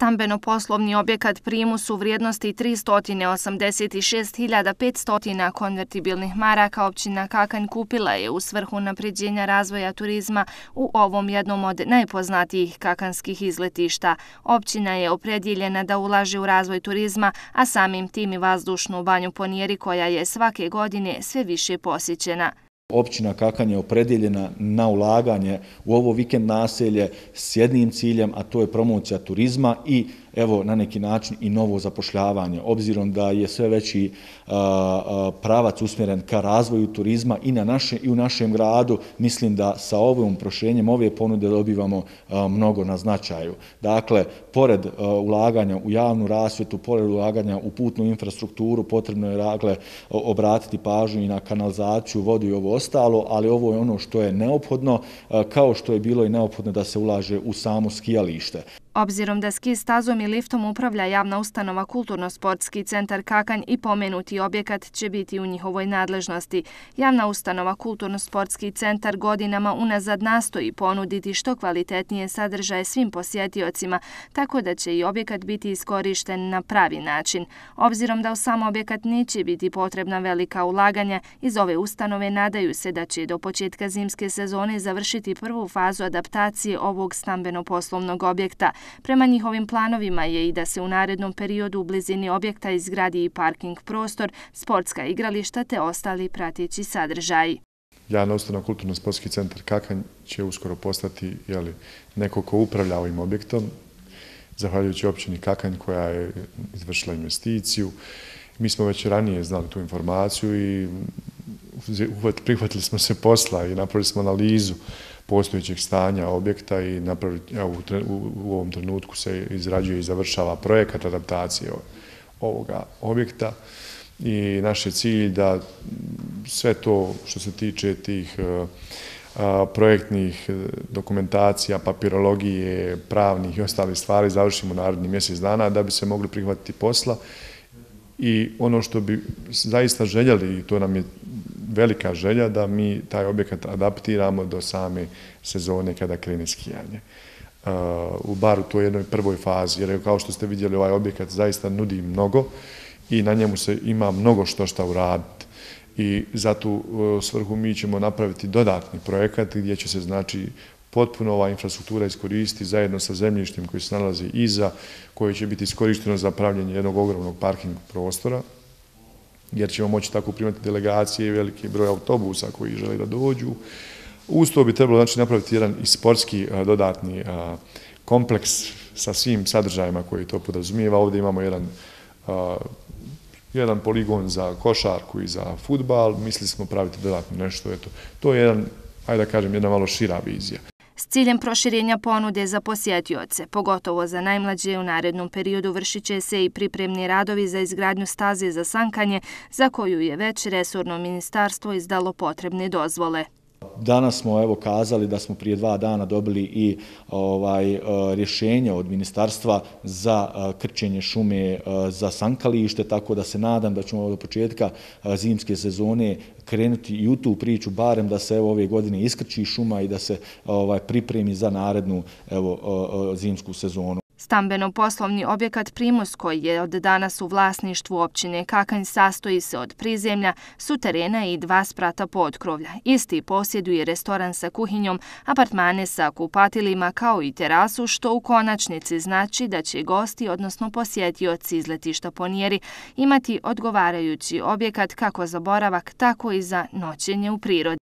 Stambeno-poslovni objekat Primus u vrijednosti 386.500 konvertibilnih maraka općina Kakanj kupila je u svrhu unapređenja razvoja turizma u ovom jednom od najpoznatijih kakanskih izletišta. Općina je opredjeljena da ulaže u razvoj turizma, a samim tim i vazdušnu banju Ponijeri koja je svake godine sve više posjećena. Općina Kakanj je opredjeljena na ulaganje u ovo vikend naselje s jednim ciljem, a to je promocija turizma i evo na neki način i novo zapošljavanje. Obzirom da je sve veći pravac usmjeren ka razvoju turizma i u našem gradu, mislim da sa ovim proširenjem ove ponude dobivamo mnogo na značaju. Dakle, pored ulaganja u javnu rasvjetu, pored ulaganja u putnu infrastrukturu, potrebno je dakle obratiti pažnju i na kanalizaciju, vodu i ovo ostalo, ali ovo je ono što je neophodno, kao što je bilo i neophodno da se ulaže u samo skijalište. Obzirom da ski stazom i liftom upravlja javna ustanova Kulturno-sportski centar Kakanj i pomenuti objekat će biti u njihovoj nadležnosti. Javna ustanova Kulturno-sportski centar godinama unazad nastoji ponuditi što kvalitetnije sadržaje svim posjetiocima, tako da će i objekat biti iskorišten na pravi način. Obzirom da u sam objekat neće biti potrebna velika ulaganja, iz ove ustanove nadaju se da će do početka zimske sezone završiti prvu fazu adaptacije ovog stambeno-poslovnog objekta. Prema njihovim planovima je i da se u narednom periodu u blizini objekta izgradi i parking prostor, sportska igrališta te ostali prateći sadržaji. Javna ustanova Kulturno-sportski centar Kakanj će uskoro postati neko ko upravlja ovim objektom, zahvaljujući općini Kakanj koja je izvršila investiciju. Mi smo već ranije znali tu informaciju i prihvatili smo se posla i napravili smo analizu postojećeg stanja objekta i u ovom trenutku se izrađuje i završava projekat adaptacije ovoga objekta i naš je cilj da sve to što se tiče tih projektnih dokumentacija, papirologije, pravnih i ostalih stvari završimo naredni mjesec dana da bi se mogli prihvatiti posla. I ono što bi zaista željeli, i to nam je velika želja, da mi taj objekat adaptiramo do same sezone kada krene skijanje. U bar u toj jednoj prvoj fazi, jer kao što ste vidjeli ovaj objekat zaista nudi mnogo i na njemu se ima mnogo što uraditi. I za tu svrhu mi ćemo napraviti dodatni projekat gdje će se znači potpuno ova infrastruktura iskoristiti zajedno sa zemljištem koji se nalazi iza, koje će biti iskorišteno za pravljenje jednog ogromnog parking prostora, jer ćemo moći tako primati delegacije i veliki broj autobusa koji žele da dođu. Uz to bi trebalo znači napraviti jedan i sportski dodatni kompleks sa svim sadržajima koji to podrazumijeva. Ovdje imamo jedan poligon za košarku i za fudbal. Mislili smo praviti dodatno nešto. To je jedna malo šira vizija. S ciljem proširenja ponude za posjetioce, pogotovo za najmlađe, u narednom periodu vršit će se i pripremni radovi za izgradnju staze za sankanje, za koju je već resorno ministarstvo izdalo potrebne dozvole. Danas smo kazali da smo prije 2 dana dobili i rješenje od ministarstva za krčenje šume za sankalište, tako da se nadam da ćemo do početka zimske sezone krenuti i u tu priču, barem da se ove godine iskrči šuma i da se pripremi za narednu zimsku sezonu. Stambeno-poslovni objekat Primus, koji je od danas u vlasništvu općine Kakanj, sastoji se od prizemlja, suterena i 2 sprata potkrovlja. Isti posjeduje restoran sa kuhinjom, apartmane sa kupatilima kao i terasu, što u konačnici znači da će gosti, odnosno posjetioci izletišta Ponijeri, imati odgovarajući objekat kako za boravak, tako i za noćenje u prirodi.